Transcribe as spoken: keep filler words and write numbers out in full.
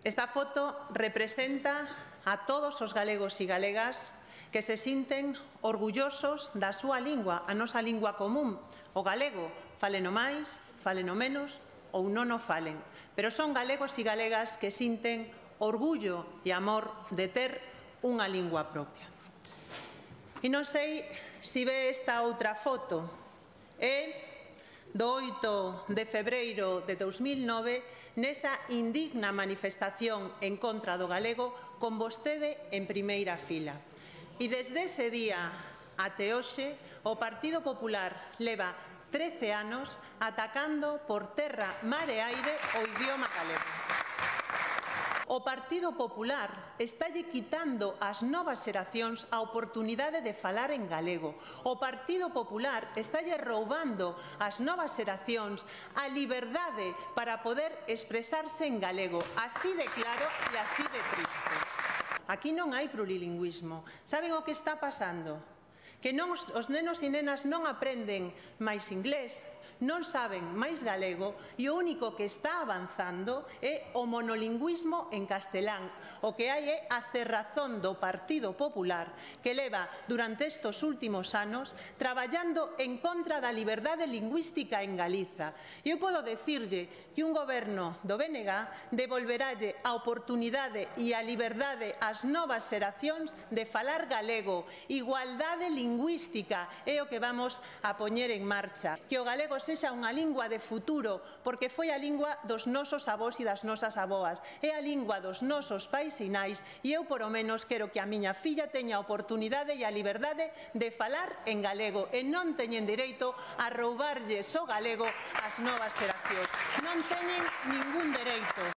Esta foto representa a todos os galegos e galegas que se sinten orgullosos da súa lingua, a nosa lingua común, o galego, falen o máis, falen o menos ou non o falen. Pero son galegos e galegas que sinten orgullo e amor de ter unha lingua propia. E non sei se ve esta outra foto, é do oito de febreiro de dous mil nove, nesa indigna manifestación en contra do galego, con vostede en primeira fila. E desde ese día até hoxe, o Partido Popular leva trece anos atacando por terra, mar e aire o idioma galego. O Partido Popular estálle quitando ás novas xeracións a oportunidade de falar en galego. O Partido Popular estálle roubando ás novas xeracións a liberdade para poder expresarse en galego, así de claro e así de triste. Aquí non hai plurilingüismo. Saben o que está pasando? Que non, os nenos e nenas non aprenden máis inglés, non saben máis galego e o único que está avanzando é o monolingüismo en castelán. O que hai é a cerrazón do Partido Popular que leva durante estes últimos anos traballando en contra da liberdade lingüística en Galiza. E eu podo dicirlle que un goberno do B N G devolveralle a oportunidade e a liberdade ás novas xeracións de falar galego. Igualdade lingüística é o que vamos a poñer en marcha. Que o galego sexa unha lingua de futuro, porque foi a lingua dos nosos avós e das nosas aboas, é a lingua dos nosos pais e nais, e eu, por o menos, quero que a miña filla teña a oportunidade e a liberdade de falar en galego, e non teñen dereito a roubarlles o galego ás novas xeracións. Non teñen ningún dereito.